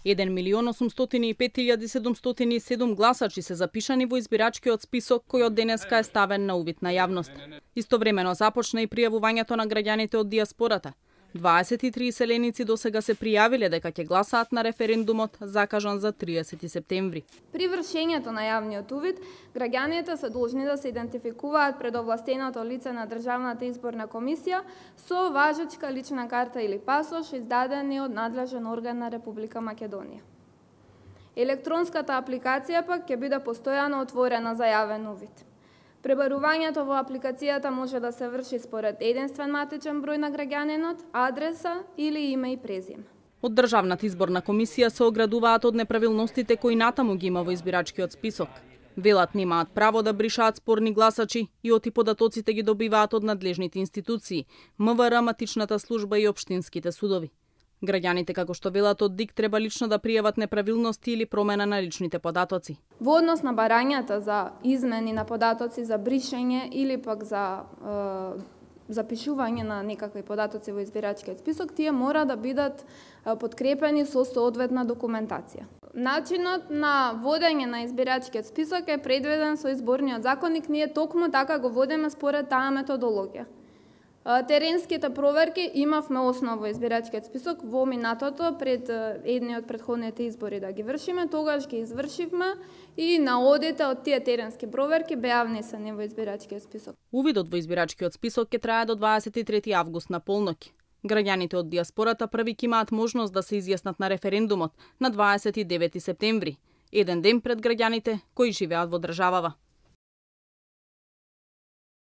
1.805.707 гласачи се запишани во избирачкиот список кој од денеска е ставен на увид на јавност. Истовремено започна и пријавувањето на граѓаните од дијаспората. 23 селеници досега се пријавиле дека ќе гласаат на референдумот закажан за 30 септември. При вршењето на јавниот увид, граѓаните се должни да се идентификуваат пред овластеното лице на Државната изборна комисија со важечка лична карта или пасош издадени од надлежен орган на Република Македонија. Електронската апликација пак ќе биде постојано отворена за јавен увид. Пребарувањето во апликацијата може да се врши според единствен матичен број на граѓанинот, адреса или име и презиме. Од Државната изборна комисија се оградуваат од неправилностите кои натаму ги има во избирачкиот список. Велат немаат право да бришаат спорни гласачи и оти податоците ги добиваат од надлежните институции, МВР, матичната служба и општинските судови. Граѓаните, како што велат од ДИК, треба лично да пријават неправилности или промена на личните податоци. Во однос на барањата за измени на податоци, за бришење или пак за запишување на некакви податоци во избирачкиот список, тие мора да бидат подкрепени со соодветна документација. Начинот на водење на избирачкиот список е предвиден со изборниот законник, ние токму така го водиме според таа методологија. Теренските проверки имавме основа во избирачкиот список во минатото пред едни од претходните избори да ги вршиме, тогаш ги извршивме и наодите од тие теренски проверки беа внесени во избирачкиот список. Увидот во избирачкиот список ќе трае до 23 август на полноќ. Граѓаните од дијаспората први ќе имаат можност да се изјаснат на референдумот на 29 септември, еден ден пред граѓаните кои живеат во државава.